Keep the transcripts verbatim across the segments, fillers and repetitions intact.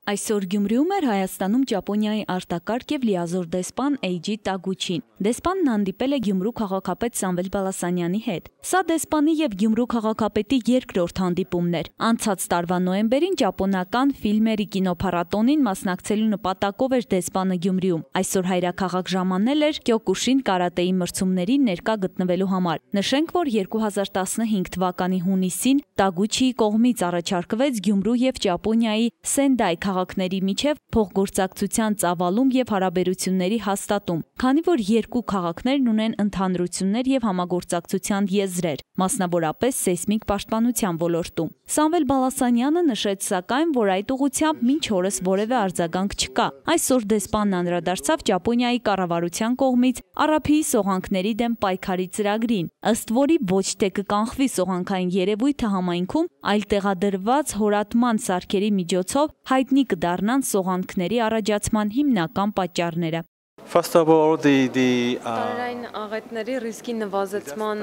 Այսօր Գյումրիում էր Հայաստանում Ճապոնիայի արտակարգ եւ լիազոր դեսպան Էյջի Տագուչին։ Դեսպանն հանդիպել է Գյումրու քաղաքապետ Սամվել Բալասանյանի հետ։ Սա դեսպանի եւ Գյումրու քաղաքապետի երկրորդ հանդիպումն էր։ Անցած տարվա նոյեմբերին ճապոնական ֆիլմերի կինոփառատոնին մասնակցելու նպատակով էր դեսպանը Գյումրիում։ Այսօր հայրաքաղաք ժամանել էր Կյոկուշին կարատեի մրցումներին ներկա գտնվելու համար։ Նշենք, որ երկու հազար տասնհինգ թվականի հունիսին Տագուչիի կողմից առաջարկվեց Գյումրու եւ Ճապոնիայի Սենդայ քաղաքների միջև փոխգործակցության ծավալում եւ հարաբերությունների հաստատում, քանի որ երկու քաղաքներն ունեն ընդհանրություններ եւ համագործակցության եզրեր, մասնավորապես սեյսմիկ պաշտպանության ոլորտում։ Սամվել Բալասանյանը նշեց սակայն, որ այդ ուղղությամբ մինչ օրս որևէ արձագանք չկա։ Այսօր դեսպանն անդրադարձավ Ճապոնիայի կառավարության կողմից Արաբիի սողանքների դեմ պայքարի ծրագրին, ըստ որի ոչ թե կկանխվի սողանքային երևույթը համայնքում, այլ տեղադրված հորատման սարքերի միջոցով հայտնի կդառնան սողանքների առաջացման հիմնական պատճառները։ First of all, the the Տարերային աղետների ռիսկի նվազեցման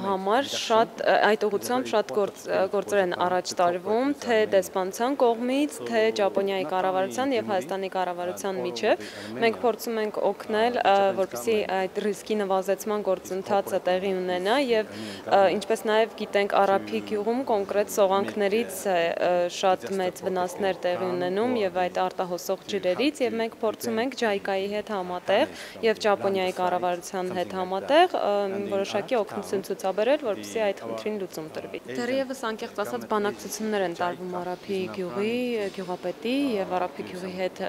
համար շատ այդ ուղղությամբ շատ գործեր են առաջ տարվում, թե դեսպանության կողմից, թե Ճապոնիայի կառավարության եւ Հայաստանի կառավարության միջև։ Մենք փորձում ենք օգնել, որպեսզի այդ ռիսկի նվազեցման գործընթացը տեղի ունենա եւ ինչպես նաեւ գիտենք, Արաբի գյուղում կոնկրետ սողանքներից շատ մեծ վնասներ տեղի ունենում եւ այդ արտահոսող ջրերից եւ մենք փորձում ենք ջայկայի հետ համատեղ եւ Ճապոնիայի կառավարության հետ համատեղ որոշակի օգնություն ցուցաբերել, որպեսզի այդ խնդրին լուծում տրվի։ Դեռևս անկեղծ ասած բանակցություններ են տարվում Արաբի գյուղի գյուղապետի եւ Արաբի գյուղի հետ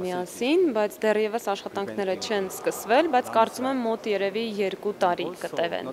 միասին, բայց դեռևս աշխատանքները չեն սկսվել, բայց կարծում եմ մոտ երևի երկու տարի կտևեն։